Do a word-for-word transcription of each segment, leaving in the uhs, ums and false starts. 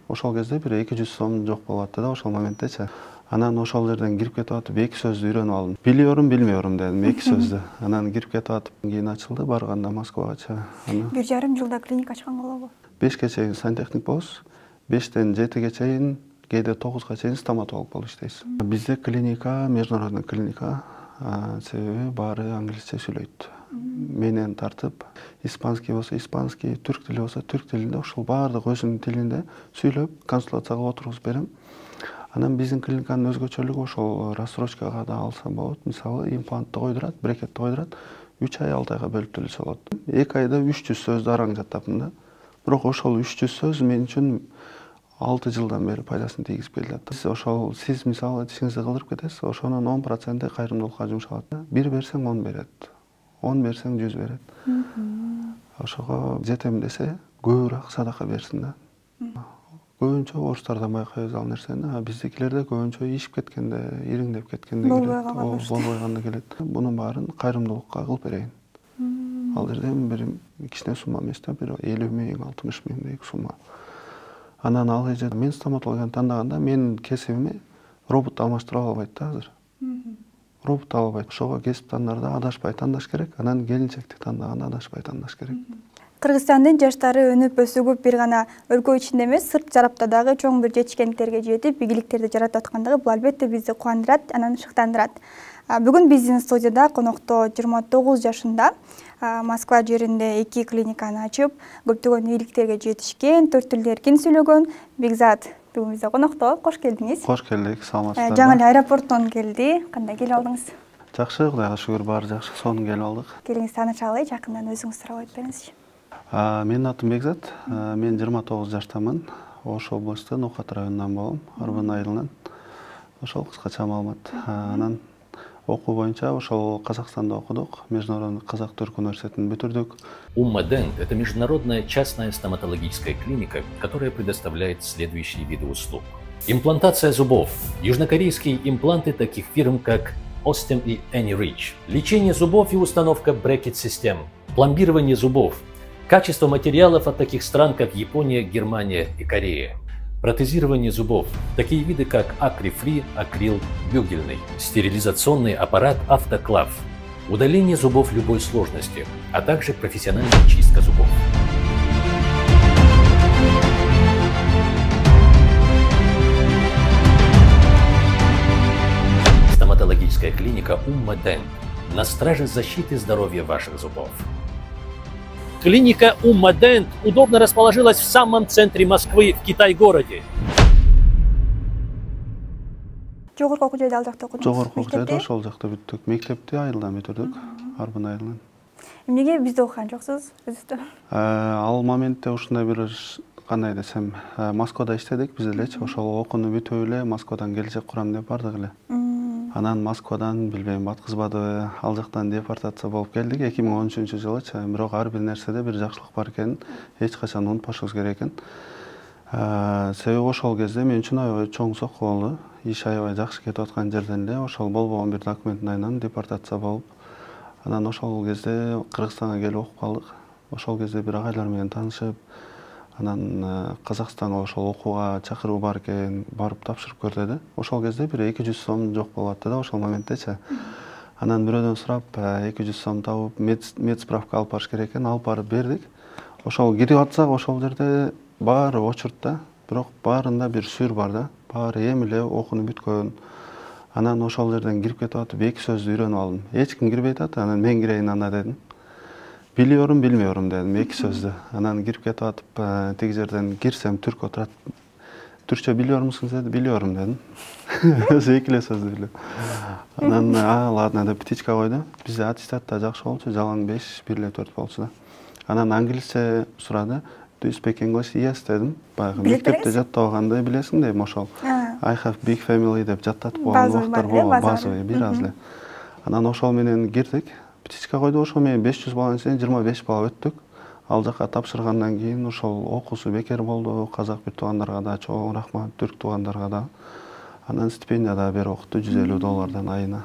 ошол кезде бир эки жүз сом жок болуп атты да ошол моменттечи. Анан ошол жерден кирип кетип атып эки сөздү үйрөнүп алдым. Билиyorum, билmiyorum дедим эки сөздү. Анан кирип кетип атып кийин ачылды барганда Москвагачы. Бир жарым жылда клиника ачкан болобу? бешке чейин сантехник болосуз. бештен жетиге чейин, кээде тогузга чейин стоматолог болуп иштейсиз. Бизде клиника, международный клиника, себеби баары англисче сүйлөйт. Менен тартып, испанский болсо испанский, түрк тили болсо түрк тилинде, ошол баардык өзүнүн тилинде сүйлөп, консультацияга отургузуп берем. Анан биздин клиниканын өзгөчөлүгү ошол рассрочкага да алса болот. Мисалы, имплантты койдурат, брекетти койдурат, үч ай, алты айга бөлүп төлөсө болот. эки айда үч жүз сөздү араң жаттапмын да. Бирок ошол үч жүз сөз мен үчүн алты жылдан бери пайдасын тийгизип келет. Сиз ошол сиз мисалы тишиңизди кылдырып кетесиз, ошонун он проценти кайрымдуулукка жумшалат. бир берсең он берет. он берсең жүз берет. Ошого жетем десе, көбүрөөк садака берсин да. Көбүнчө орустардан байкайбыз ал нерсени. Биздикилерде көбүнчө ишип кеткенде, ириңдеп кеткенде келет. Болбой калганда келет. Бунун баарын кайрымдуулукка кылып берейин. Ал жерден бир кичине сумма эмес да, бир элүү миң, алтымыш миңдей сумма. Анан ал эже мен стоматологияны тандаганда менин кесибиме робот алмаштыра албайт да азыр. Робот албайт. Ошого кесип тандарда адашпай тандаш керек, анан келинчекти тандаганда адашпай тандаш керек. Кыргызстандын жаштары өнүп өсүгүп бир гана өлкө ичинде эмес, сырт жарапта дагы чоң бир жетишкендиктерге жетип, ийгиликтерди жаратып аткандыгы бул албетте бизди кубандырат, анан шыктандырат. Бүгүн биздин студияда конокто жыйырма тогуз жашында Москва жеринде эки клиниканы ачып, көптөгөн ийгиликтерге жетишкен, төрт тилди эркин сүйлөгөн Бекзат бүгүн бизде конокто. Кош келдиңиз. Кош келдик, саламатсыздарбы? Жаңы эле аэропорттон келди. Кандай келип алдыңыз? Жакшы, Кудайга шүгүр, баары жакшы. Сонун келип алдык. Келиңиз таанышалы, жакындан өзүңүз сурап айтып бериңизчи. Менин атым Бекзат. Мен жыйырма тогуз жаштамын. Ош областы Ноокат районунан болом, Арбын айылынан. Ошол кыскача маалымат. Анан окуу боюнча ошол Казакстанда окудук. Международный Казак-Түрк университетин бүтүрдүк. Умма Дент – это международная частная стоматологическая клиника, которая предоставляет следующие виды услуг. Имплантация зубов. Южнокорейские импланты таких фирм, как Ostem и AnyRich. Лечение зубов и установка брекет-систем. Пломбирование зубов. Качество материалов от таких стран, как Япония, Германия и Корея. Протезирование зубов. Такие виды, как акрифри, акрил, бюгельный. Стерилизационный аппарат автоклав. Удаление зубов любой сложности, а также профессиональная чистка зубов. Стоматологическая клиника Умма Дент на страже защиты здоровья ваших зубов. Клиника Умма Дент удобно расположилась в самом центре Москвы, в Китай-городе. Жогорку окуу жайда ал жакта окудуңуз? Жогорку окуу жайда ошол жакта бүттүк. Мектепти айылдан бүтүрдүк, Арбын айылынан. Эмнеге бизде окуган жоксуз өзүңүздө? Ал моментте ушундай бир кандай десем, Москвада иштедик биз элечи. Ошол окууну бүтүп эле Москвадан келечек курам деп бардык эле. Анан Москвадан билбейм баткызбадыбы, ал жактан депортация болуп келдик эки миң он үчүнчү жылычы. Бирок ар бир нерседе бир жакшылык бар экенин эч качан унутпашыбыз керек экен. Себеби ошол кезде мен үчүн аябай чоң сокко болду. Иш аябай жакшы кетип аткан жерден эле ошол болбогон бир документтин айынан депортация болуп, анан ошол кезде Кыргызстанга келип окуп калдык. Ошол кезде бир агайлар менен таанышып, анан Казакстанга ошол окууга чакыруу бар экен, барып тапшырып көр деди. Ошол кезде бир эки жүз сом жок болуп атты да ошол моменттечи. Анан бирөөдөн сурап, эки жүз сом табып, мед справка алып барыш керек экен, алып барып бердик. Ошол кирип атсак, ошол жерде баары очуртта, бирок баарында бир сүр бар да. Баары эми эле окууну бүткөн. Анан ошол жерден кирип кетип атып эки сөздү үйрөнүп алдым. Эч ким кирбейт атат, анан мен кирейин анда дедим. Билиyorum, bilmiyorum дедим эки сөздү. Анан кирип кетип атып, тиги жерден кирсем түрк отурат. Түркчө билиyor musunuz dedi, biliyorum дедим. Өзү эки эле сөздү билем. Анан а, ладно деп птичка койду. Бизде аттестатта жакшы болчу, жалаң беш, бир эле төрт болчу да. Анан англисче сурады. Do you speak English? Yes дедим. Баягы мектепте жаттабагандай билесиң дейм ошол. I have big family деп жаттатып койгон убактар болгон, базовый бир аз эле. Анан ошол менен кирдик. Птичка койду, ошол менен беш жүз баланын ичинен жыйырма беш бала өттүк. Ал жака тапшыргандан кийин ошол окуусу бекер болду. Казак бир туугандарга да чоң рахмат, түрк туугандарга да. Анан стипендия да берип окутту жүз элүү доллардан айына.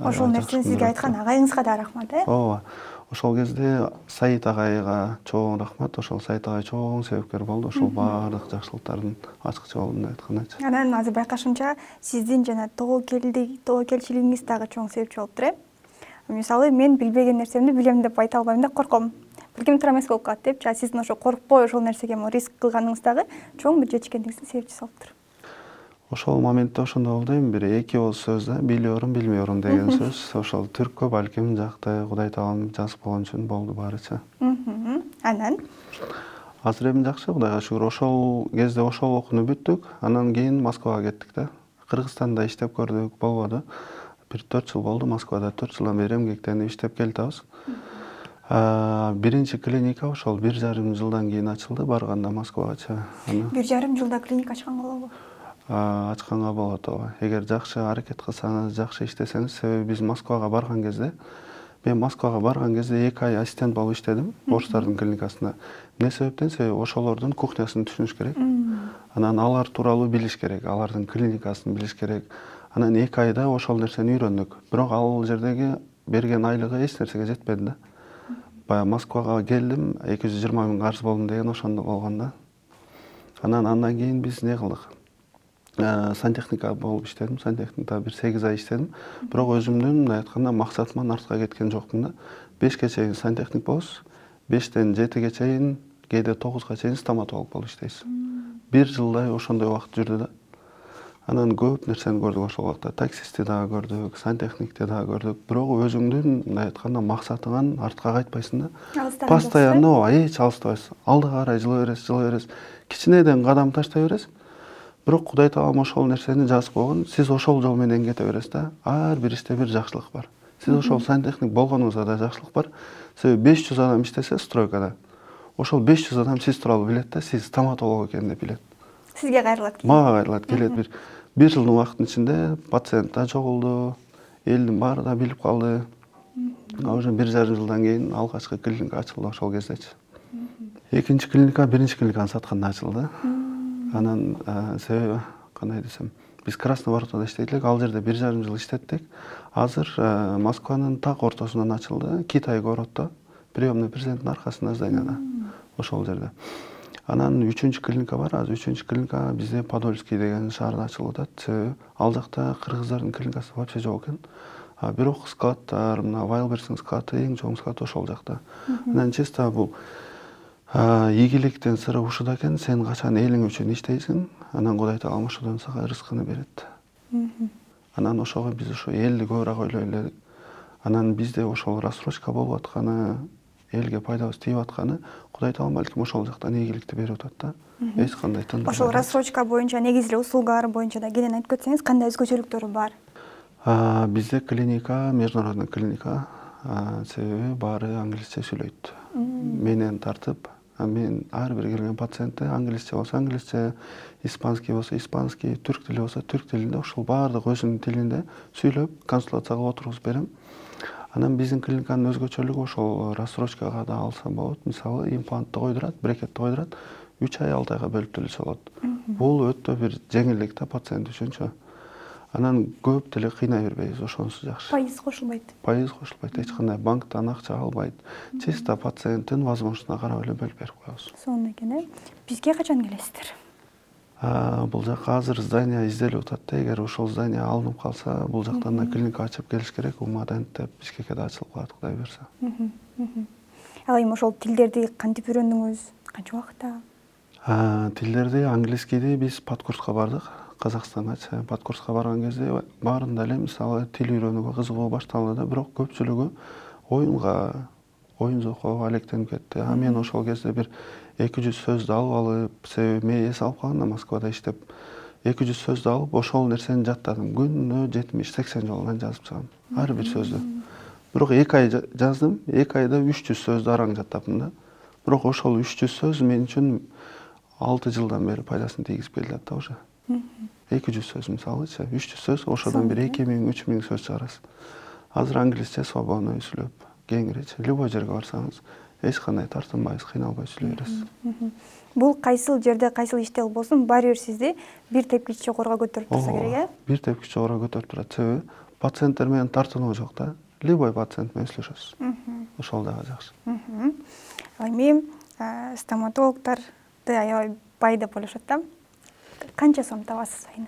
Ошол нерсени сизге айткан агайыңызга да рахмат, э? Ооба. Ошол кезде Саид агайга чоң рахмат. Ошол Саид агай чоң себепкер болду. Ошол баардык жакшылыктардын ачкычы болдум деп айткандачы. Анан азыр байкашымча сиздин жана тоо келдик, тоо келчилигиңиз дагы чоң себепчи болуптур э. Мисалы мен билбеген нерсемди билем деп айта албайм да, корком. Билгим туура эмес болуп калат деп, сиздин ошо коркпой ошол нерсеге риск кылганыңыз дагы чоң бир жетишкендигиңиздин себепчиси болуптур. Ошол моментте ошондой болду эми, бир эки ооз сөз да, билиyorum, билмейyorum деген сөз. Ошол түрккө балким жакты Кудай таалам жазып койгон үчүн болду баарычы. Анан азыр эми жакшы, Кудайга шүгүр. Ошол кезде ошол окууну бүттүк, анан кийин Москвага кеттик да. Кыргызстанда иштеп көрдүк, болбоду. Бир төрт жыл болду Москвада, төрт жылдан бери эмгектенип иштеп келатабыз. Биринчи клиника ошол бир жарым жылдан кийин ачылды, барганда Москвагачы. Бир жарым жылда клиника ачканга болобу? Ачканга болот, ооба. Эгер жакшы аракет кылсаңыз, жакшы иштесеңиз, себеби биз Москвага барган кезде, мен Москвага барган кезде эки ай ассистент болуп иштедим, орустардын клиникасында. Эмне себептен? Себеби ошолордун кухнясын түшүнүш керек. Анан алар тууралуу билиш керек, алардын клиникасын билиш керек. Анан эки айда ошол нерсени үйрөндүк. Бирок ал жердеги берген айлыгы эч нерсеге жетпеди да. Бая Москвага келдим, эки жүз жыйырма миң карыз болдум деген ошондо болгон да. Анан андан кийин биз не кылдык? Сантехника болуп иштедим, сантехникада бир сегиз ай иштедим. Бирок өзүмдүн мындай айтканда максатымдан артка кеткен жокмун да. бешке чейин сантехник болосуз, бештен жетиге чейин, кээде тогузга чейин стоматолог болуп иштейсиз. Бир жылдай ошондой убакыт жүрдү да. Анан көп нерсени көрдүк ошол убакта. Таксистти дагы көрдүк, сантехникти дагы көрдүк. Бирок өзүңдүн мындай айтканда максатыңан артка кайтпайсың да. Постоянно эч алыстабайсың. Алдыга карай жыла бересиз, жыла бересиз. Кичинеден кадам таштай бересиз. Бирок Кудай таалам ошол нерсени жазып койгон. Сиз ошол жол менен кете бересиз да. Ар бир иште бир жакшылык бар. Сиз ошол сантехник болгонуңузда да жакшылык бар. Себеби беш жүз адам иштесе стройкада. Ошол беш жүз адам сиз тууралуу билет да, сиз стоматолог экенин деп билет. Сизге кайрылат кийин. Мага кайрылат, келет бир бир жылдын убакытынын ичинде пациент да чогулду, элдин баары да билип калды. Уже бир жарым жылдан кийин алгачкы клиника ачылды ошол кездечи. Экинчи клиника биринчи клиниканы сатканда ачылды. Анан себеби кандай десем, биз Красный Воротада иштейт элек, ал жерде бир жарым жыл иштеттик. Азыр Москванын так ортосунан ачылды, Китай городдо, приемный президенттин аркасында зданияда, ошол жерде. Анан үчүнчү клиника бар, азыр үчүнчү клиника бизде Подольский деген шаарда ачылып атат. Себеби ал жакта кыргыздардын клиникасы вообще жок экен. Бирок складтар, мына Вайлберстин склады, эң чоң склад ошол жакта. Анан чисто бул ийгиликтин сыры ушуда экен, сен качан элиң үчүн иштейсиң, анан Кудай таалам ошодон сага рызкыны берет. Анан ошого биз ошо элди көбүрөөк ойлой эледик. Анан бизде ошол рассрочка болуп атканы, элге пайдабыз тийип атканы, Кудай таалам балким ошол жактан ийгиликти берип атат да. Эч кандай тындырбай. Ошол рассрочка боюнча, негизи эле услугалар боюнча да кенен айтып кетсеңиз, кандай өзгөчөлүктөрү бар? Бизде клиника, международный клиника, себеби баары англисче сүйлөйт. Менен тартып, мен ар бир келген пациентте англисче болсо англисче, испанский болсо испанский, түрк тили болсо түрк тилинде, ошол баардык өзүнүн тилинде сүйлөп, консультация кылып отургузуп берем. Анан биздин клиниканын өзгөчөлүгү ошол рассрочкага да алса болот. Мисалы, имплантты койдурат, брекетти койдурат, үч ай алты айга бөлүп төлөсө болот. Бул өтө бир жеңилдик да пациент үчүнчү. Анан көп деле кыйнай бербейбиз, ошонусу жакшы. Пайыз кошулбайт. Пайыз кошулбайт, эч кандай банктан акча албайт. Чисто пациенттин возможностуна карап эле бөлүп берип коебуз. Сонун экен э. Бизге качан келесиздер? Бул жакка азыр здание изделип атат да, эгер ошол здание алынып калса, бул жактан да клиника ачып келиш керек. Умадент деп Бишкекке да ачылып калат, Кудай берсе. Ал эми ошол тилдерди кантип үйрөндүңүз? Канча убакытта? Тилдерди, английскийди биз подкурска бардык. Казакстанга подкурска барган кезде баарында эле мисалы тил үйрөнүүгө кызыгуу башталды да, бирок көпчүлүгү оюнга, оюн зокко алектенип кетти. А мен ошол кезде бир эки жүз сөздү алып алып, себеби мен эс алып калгам да Москвада иштеп, эки жүз сөздү алып, ошол нерсени жаттадым. Күнүнө жетимиш сексен жолунан жазып чыгам, ар бир сөздү. Бирок эки ай жаздым, эки айда үч жүз сөздү араң жаттаптым да. Бирок ошол үч жүз сөз мен үчүн алты жылдан бери пайдасын тийгизип келет да уже. эки жүз сөз мисалычы, үч жүз сөз, ошодон бир эки миң, үч миң сөз чыгарасыз. Азыр англисче свободно сүйлөп, кеңиречи, любой жерге барсаңыз, эч кандай тартынбайсыз, кыйналбай сүйлөй бересиз. Бул кайсыл жерде, кайсыл иште болбосун, баары бир сизди бир тепкич жогору көтөрүп турса керек, э? Бир тепкич жогору көтөрүп турат. Себеби пациенттер менен тартынуу жок да. Любой пациент менен сүйлөшөсүз. ошол дагы жакшы. Эми стоматологдорду аябай бай деп ойлошот да. Канча сом табасыз айына?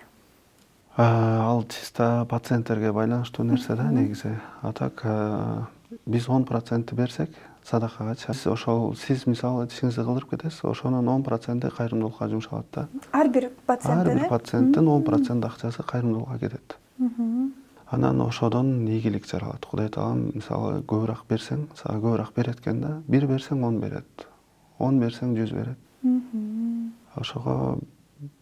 Ал чисто пациенттерге байланыштуу нерсе да негизи. А так биз он процент берсек садакага, ошол сиз мисалы тишиңизди кылдырып кетесиз, ошонун он проценти кайрымдуулукка жумшалат да. Ар бир пациенттин? Ар бир пациенттин он процент акчасы кайрымдуулукка кетет. Анан ошодон ийгилик жаралат. Кудай таалам мисалы көбүрөөк берсең, сага көбүрөөк берет экен да. бир берсең он берет. он берсең жүз берет. Ошого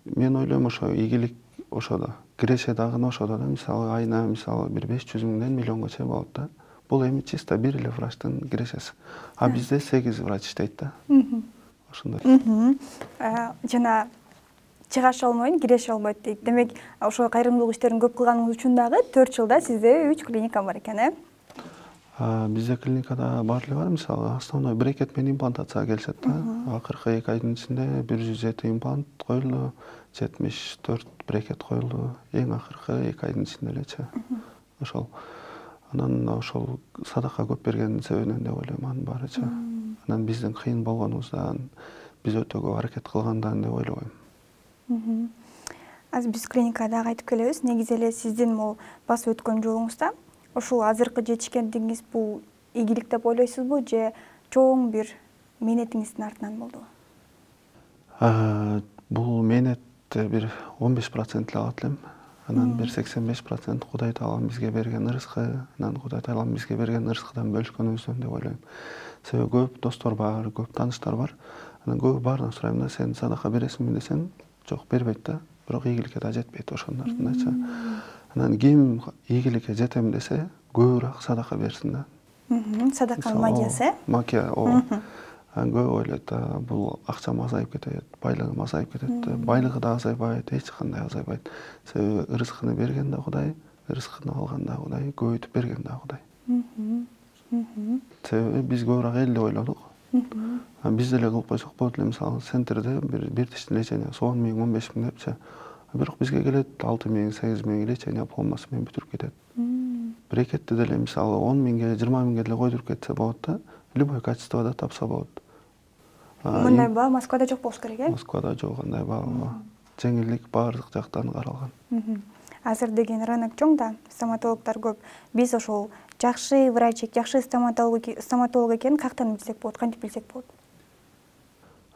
мен ойлойм ошо ийгилик ошодо. Киреше дагы ошодо да, мисалы айына мисалы бир беш жүз миңден миллионго чейин болот да. Бул эми чисто бир эле врачтын кирешеси. А бизде сегиз врач иштейт да. Ошондой. Жана чыгаша албайм, киреше албайт дейт. Демек, ошо кайрымдуулук иштерин көп кылганыңыз үчүн дагы төрт жылда сизде үч клиника бар экен, э? Бизде клиникада бар эле бар, мисалы основной брекет менен имплантацияга келишет да. Акыркы эки айдын ичинде бир жүз жети имплант коюлду, жетимиш төрт брекет коюлду. Эң акыркы эки айдын ичинде элечи. Ошол. Анан ошол садака көп бергендин себебинен деп ойлойм анын баарычы. Анан биздин кыйын болгонубуздан, биз өтө көп аракет кылгандан деп ойлойм. Азыр биз клиникада айтып келебиз. Негизи эле сиздин могу басып өткөн жолуңузда ушул азыркы жетишкендигиңиз бул ийгилик деп ойлойсузбу же чоң бир мээнетиңиздин артынан болдубу? Бул мээнетти бир он беш процент эле алат элем. Анан бир сексен беш процент Кудай таалам бизге берген ырыскы, анан Кудай таалам бизге берген ырыскыдан бөлүшкөнүбүздөн деп ойлойм. Себеби көп достор бар, көп тааныштар бар. Анан көп баарынан сурайм да, сен садака бересиңби десең, жок бербейт да. Бирок ийгиликке да жетпейт ошонун артындачы. Анан ким ийгиликке жетем десе, көбүрөөк садака берсин да. Садаканын магиясы? Магия, ооба. Көп ойлойт, бул акчам азайып кетет, байлыгым азайып кетет. Байлыгы да азайбайт, эч кандай азайбайт. Себеби ырыскыны берген да Кудай, ырыскыны алган да Кудай, көбөйтүп берген да Кудай. Себеби биз көбүрөөк элди ойлодук. Биз деле кылып койсок болот эле, мисалы центрде бир тиштин лечениясы он миң, он беш миң депчи. Бирок бизге келет алты миң, сегиз миң лечения полностью менен бүтүрүп кетет. Брекетти деле мисалы он миңге, жыйырма миңге деле койдуруп кетсе болот да, любой качествода тапса болот. Мындай баа Москвада жок болуш керек, э? Москвада жок андай баа. Жеңилдик баардык жактан каралган. Азыр деген рынок чоң да, стоматологдор көп. Биз ошол жакшы врач, жакшы стоматолог стоматолог экенин каяктан билсек болот, кантип билсек болот?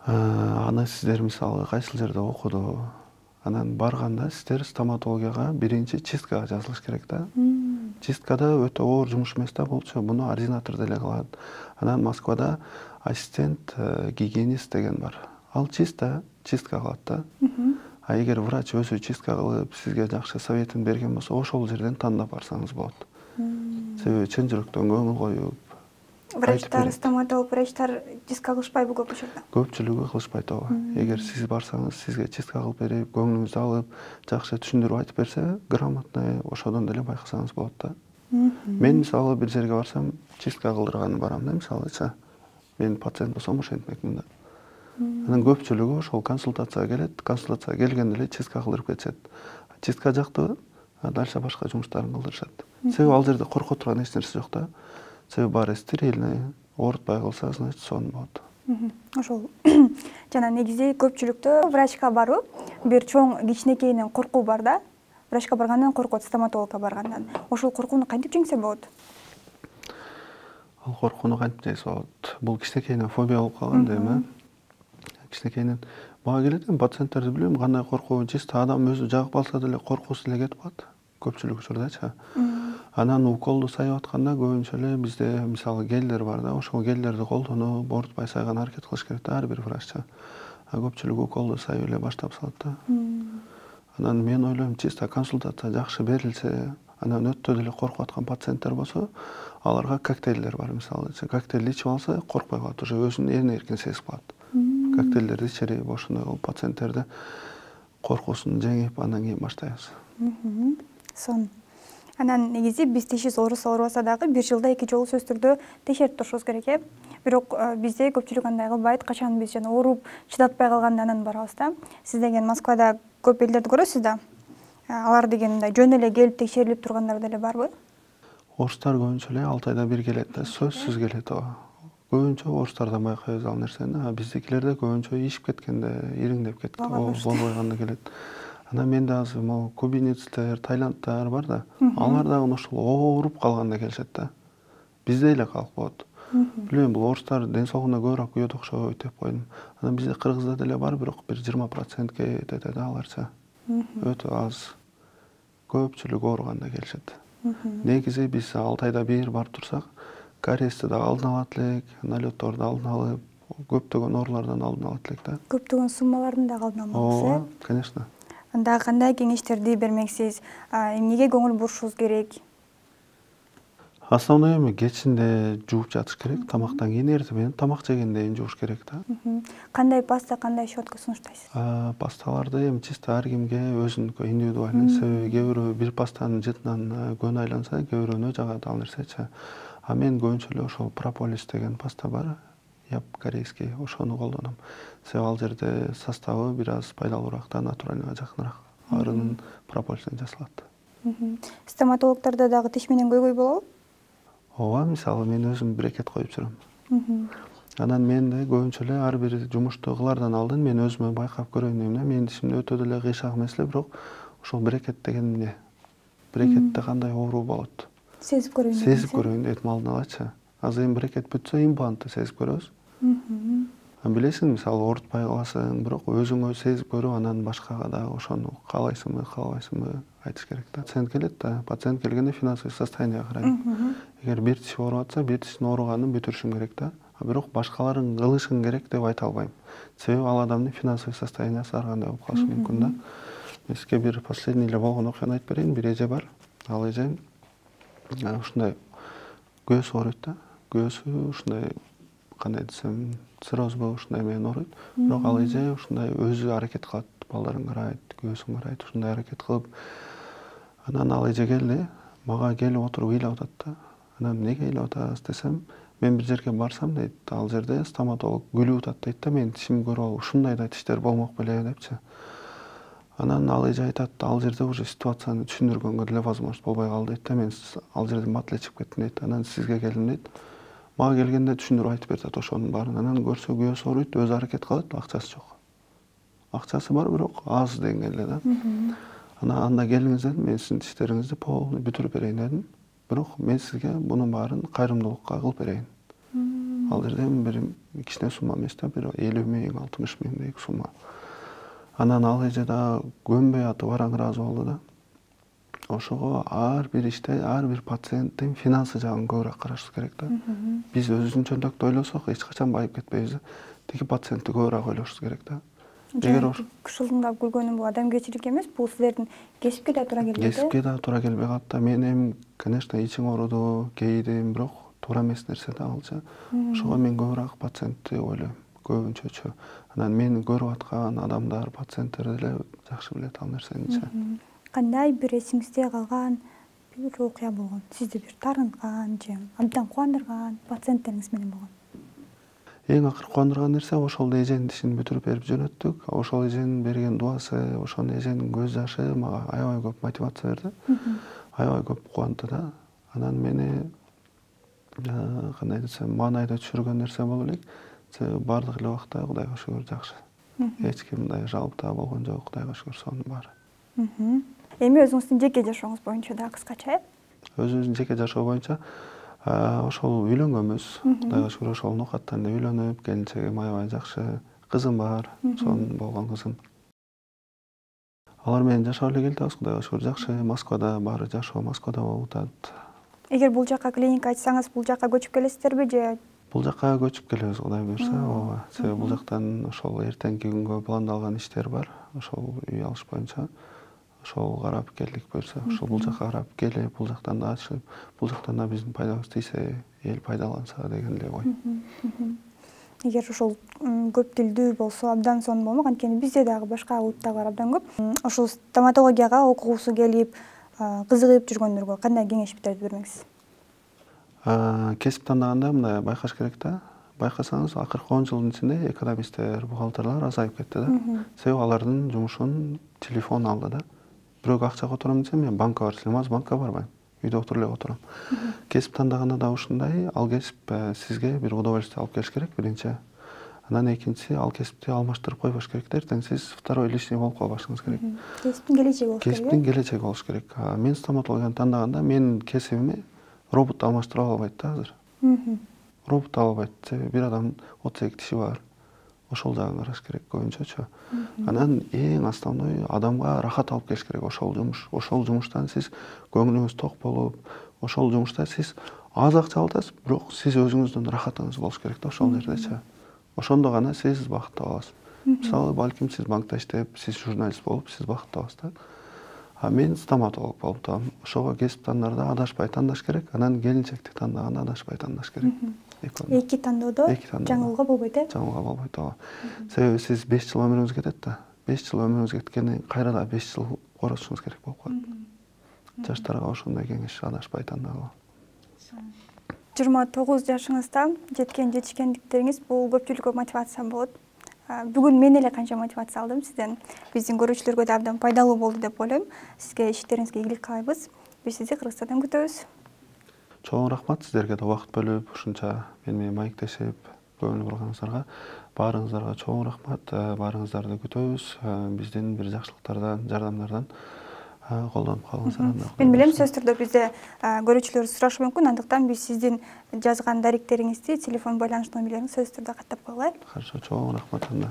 Аны сиздер мисалы кайсыл жерде окуду, анан барганда сиздер стоматологияга биринчи чисткага жазылыш керек да. Чисткада өтө оор жумуш эмес да, булчу буну ординатор деле кылат. Анан Москвада ассистент гигиенист деген бар. Ал чисто чистка кылат да. А эгер врач өзү чистка кылып, сизге жакшы советин берген болсо, ошол жерден тандап барсаңыз болот. Себеби чын жүрөктөн көңүл коюп, врачтар, стоматолог врачтар чистка кылышпайбы көп учурда? Көпчүлүгү кылышпайт ооба. Эгер сиз барсаңыз, сизге чистка кылып берип, көңүлүңүздү алып, жакшы түшүндүрүп айтып берсе, грамотный ошодон деле байкасаңыз болот да. Мен мисалы бир жерге барсам, чистка кылдырганы барам да, мисалычы. Мен пациент болсом ошентмекмин да. Анан көпчүлүгү ошол консультацияга келет, консультацияга келгенде эле чистка кылдырып кетишет. Чистка жактыбы, дальше башка жумуштарын кылдырышат. Себеби ал жерде коркот турган эч нерсе жок да. Себеби баары стерильный, оорутпай калса, значит, сонун болот. Ошол жана негизи көпчүлүктө врачка баруу бир чоң кичинекейинен коркуу бар да. Врачка баргандан коркот, стоматологко баргандан. Ошол коркууну кантип жеңсе болот? Ал коркууну кантип жеңсе болот? Бул кичинекейинен фобия болуп калган дейм, э? Кичинекейинен бага келет эми пациенттерди билем, кандай коркуу, чисто адам өзү жагып алса деле коркуусу деле кетип калат. Көпчүлүк учурдачы. Анан уколду сайып атканда көбүнчө эле бизде мисалы гелдер бар да, ошол гелдерди колдонуп, оорутпай сайган аракет кылыш керек да ар бир враччы. А көпчүлүк уколду сайып эле баштап салат да. Анан мен ойлойм, чисто консультация жакшы берилсе, анан өтө деле коркуп аткан пациенттер болсо, аларга коктейлдер бар, мисалы, коктейлди ичип алса, коркпой калат, уже өзүн эрин эркин сезип калат. Коктейлдерди ичирип, ошондой кылып пациенттерди коркуусун жеңип, андан кийин баштайбыз. Сон. Анан негизи биз тишибиз ооруса оорубаса дагы бир жылда эки жолу сөзсүз түрдө текшерип турушубуз керек, э? Бирок бизде көпчүлүк андай кылбайт, качан биз жана ооруп чыдатпай калганда анан барабыз да. Сиз деген Москвада көп элдерди көрөсүз да. Алар деген мындай жөн эле келип текшерилип тургандар деле барбы? Орустар көбүнчө эле алты айда бир келет да, сөзсүз келет ооба. Көбүнчө орустардан байкайбыз ал нерсени, а биздикилерде көбүнчө ишип кеткенде, ириңдеп кетти, болбой калганда келет. Анан менде азыр могу кубинецтер, тайландтар бар да, алар дагы ошол ооруп калганда келишет да. Бизде эле калып коет. Билбейм, бул орустар ден соолугуна көбүрөөк күйөт окшойт деп койдум. Анан бизде кыргызда деле бар, бирок бир жыйырма процентке этет да аларча. Өтө аз. Көпчүлүк ооруганда келишет. Негизи биз алты айда бир барып турсак, кариести да алдын алат элек, налетторду алдын алып, көптөгөн оорулардан алдын алат элек да. Көптөгөн суммалардын дагы алдын алмаксыз, э? Ооба, конечно. Анда кандай кеңештерди бермексиз? Эмнеге көңүл бурушубуз керек? Основной эми кечинде жууп жатыш керек, тамактан кийин, эртең менен тамак жегенден кийин жууш керек да. Кандай паста, кандай щетка сунуштайсыз? Пасталарды эми чисто ар кимге өзүнүкү индивидуальный. Себеби кээ бирөө бир пастанын жытынан көн айланса, кээ бирөөнө жагат ал нерсечи. А мен көбүнчө эле ошол прополис деген паста бар, яп корейский, ошону колдоном. Себеби ал жерде составы бир аз пайдалуураак да, натуральныйга жакыныраак. Арынын прополистен жасалат. Стоматологдордо дагы тиш менен көйгөй болобу? Ооба, мисалы мен өзүм брекет коюп жүрөм. Анан мен да көбүнчө эле ар бир жумушту кылаардан алдын мен өзүмө байкап көрөйүн дейм да. Менин тишимде өтө деле кыйшак эмес эле, бирок ошол брекет деген эмне? Брекетте кандай оору болот? Сезип көрөйүн дейм. Сезип көрөйүн дейт алдын алачы. Азыр эми брекет бүтсө, имплантты сезип көрөбүз. Билесиң, мисалы оорутпай каласың, бирок өзүңө сезип көрүп, анан башкага да ошону каалайсыңбы, каалабайсыңбы айтыш керек да. Пациент келет да, пациент келгенде финансовый состояние карайм. Эгер бир тиш ооруп атса, бир тиштин ооруганын бүтүрүшүм керек да. А бирок башкаларын кылышың керек деп айта албайм. Себеби ал адамдын финансовый состояниясы ар кандай болуп калышы мүмкүн да. Мен сизге бир последний эле болгон окуяны айтып берейин. Бир эже бар. Ал эже ушундай көөсү ооруйт да. Көөсү ушундай кандай десем, циррозбу ушундай менен ооруйт. Бирок ал эже ушундай өзү аракет кылат, балдарын карайт, көөсүн карайт, ушундай аракет кылып. Анан ал эже келди, мага келип отуруп ыйлап атат да. Анан эмнеге ыйлап атасыз десем, мен бир жерге барсам дейт, ал жерде стоматолог күлүп атат дейт да, мен тишимди көрүп алып, ушундай да тиштер болмок беле депчи. Анан ал эже айтат, ал жерде уже ситуацияны түшүндүргөнгө деле возможность болбой калды дейт да, мен ал жерден матлечип кеттим дейт. Анан сизге келдим дейт. Мага келгенде түшүндүрүп айтып берет ошонун баарын. Анан көрсө көөсү ооруйт, өзү аракет кылат, акчасы жок. Акчасы бар, бирок аз деңгээлде да. Анан анда келиңиз дедим, мен сиздин тиштериңизди полный бүтүрүп берейин дедим. Бирок мен сизге мунун баарын кайрымдуулукка кылып берейин. Ал жерде бир кичине сумма эмес да, бир элүү миң, алтымыш миңдей сумма. Анан ал эже да көнбөй атып араң ыраазы болду да. Ошого ар бир иште, ар бир пациенттин финансы жагын көбүрөөк карашыбыз керек да. Биз өзүнчөлүктө ойлосок, эч качан байып кетпейбиз. Тиги пациентти көбүрөөк ойлошубуз керек да. Эгер кышылдап күлгөнүм бул адамгерчилик эмес, бул силердин кесипке да туура келбейт. Кесипке да туура келбей калат да. Мен эми, конечно, ичиң ооруду, кейидим, бирок туура эмес нерсе да алчы. Ошого мен көбүрөөк пациентти ойлойм, көбүнчөчү. Анан мени көрүп аткан адамдар, пациенттер деле жакшы билет ал нерсеничи. Кандай бир эсиңизде калган бир окуя болгон? Сизди бир таарынткан же абдан кубандырган пациенттериңиз менен болгон? Эң акыркы кубандырган нерсе ошол эженин тишин бүтүрүп берип жөнөттүк. Ошол эженин берген дуасы, ошол эженин көз жашы мага аябай көп мотивация берди. Аябай көп кубандырды да. Анан мени кандай десем, маанайда түшүргөн нерсе болуп элек. Себеби бардык эле убакта Кудайга шүгүр жакшы. Эч ким мындай жалпытаа болгон жок, Кудайга шүгүр сонун баары. Эми өзүңүздүн жеке жашооңуз боюнча дагы кыскача, э? Өзүбүздүн жеке жашоо боюнча ошол үйлөнгөнбүз. Кудайга шүгүр ошол нукаттан эле үйлөнүп, келинчегим аябай жакшы, кызым бар, сонун болгон кызым. Алар менен жашап эле келатабыз, Кудайга шүгүр жакшы. Москвада баары жашоо Москвада болуп атат. Эгер бул жака клиника ачсаңыз, бул жака көчүп келесиздерби же? Бул жака көчүп келебиз, Кудай буюрса, ооба. Себеби бул жактан ошол эртеңки күнгө пландалган иштер бар. Ошол үй алыш боюнча. Ошол карап келдик буюрса, ошол бул жака карап келип, бул жактан да ачып, бул жактан да биздин пайдабыз тийсе, эл пайдаланса деген эле ой. Эгер ошол көп тилдүү болсо абдан сонун болмок, анткени бизде дагы башка улуттагылар абдан көп. Ошол стоматологияга окугусу келип, кызыгып жүргөндөргө кандай кеңештерди бермексиз? Кесип тандаганда мындай байкаш керек да. Байкасаңыз, акыркы он жылдын ичинде экономисттер, бухгалтерлер азайып кетти да. Себеби алардын жумушун телефон алды да. Бирөөгө акча котором десем, мен банкка бар десем, азыр банкка барбайм. үйдө отуруп эле отурам. Кесип тандаганда да ушундай, ал кесип сизге бир удовольствие алып келиш керек биринчи. Анан экинчиси, ал кесипти алмаштырып койбош керек. Эртең сиз второй лишний болуп калбашыңыз керек. Кесиптин келечеги болуш керек. Кесиптин келечеги болуш керек. Мен стоматологияны тандаганда менин кесибими робот алмаштыра албайт да азыр. Робот албайт. Себеби бир адамдын отуз эки тиши бар. Ошол жагын караш керек көбүнчөчү. Анан эң основной адамга рахат алып келиш керек ошол жумуш. Ошол жумуштан сиз көңүлүңүз ток болуп, ошол жумушта сиз аз акча аласыз, бирок сиз өзүңүздүн рахатыңыз болуш керек да ошол жердечи. Ошондо гана сиз бакыттуу болосуз. Мисалы, балким сиз банкта иштеп, сиз журналист болуп, сиз бакыттуу болосуз да. А мен стоматолог болуп атам. Ошого кесип тандарда адашпай тандаш керек, анан келинчекти тандаганда адашпай тандаш керек. Эки тандоодо жаңылууга болбойт э? Жаңылууга болбойт, ооба. Себеби сиз беш жыл өмүрүңүз кетет да. беш жыл өмүрүңүз кеткенден кийин кайра да беш жыл коротушуңуз керек болуп калат. Жаштарга ошондой кеңеш, адашпай тандагыла. жыйырма тогуз жашыңызда жеткен жетишкендиктериңиз бул көпчүлүккө мотивация болот. Бүгүн мен эле канча мотивация алдым сизден. Биздин көрүүчүлөргө да абдан пайдалуу болду деп ойлойм. Сизге иштериңизге ийгилик каалайбыз. Биз сизди Кыргызстандан күтөбүз. Чоң рахмат сиздерге да убакыт бөлүп, ушунча мени менен маектешип, көңүл бурганыңыздарга. Баарыңыздарга чоң рахмат. Баарыңыздарды күтөбүз. Биздин бир жакшылыктардан, жардамдардан колдонуп калыңыздар. Мен билем, сөзсүз түрдө бизде көрүүчүлөр сурашы мүмкүн, андыктан биз сиздин жазган даректериңизди, телефон байланыш номерлериңизди сөзсүз түрдө каттап коелу. Хорошо, чоң рахмат анда.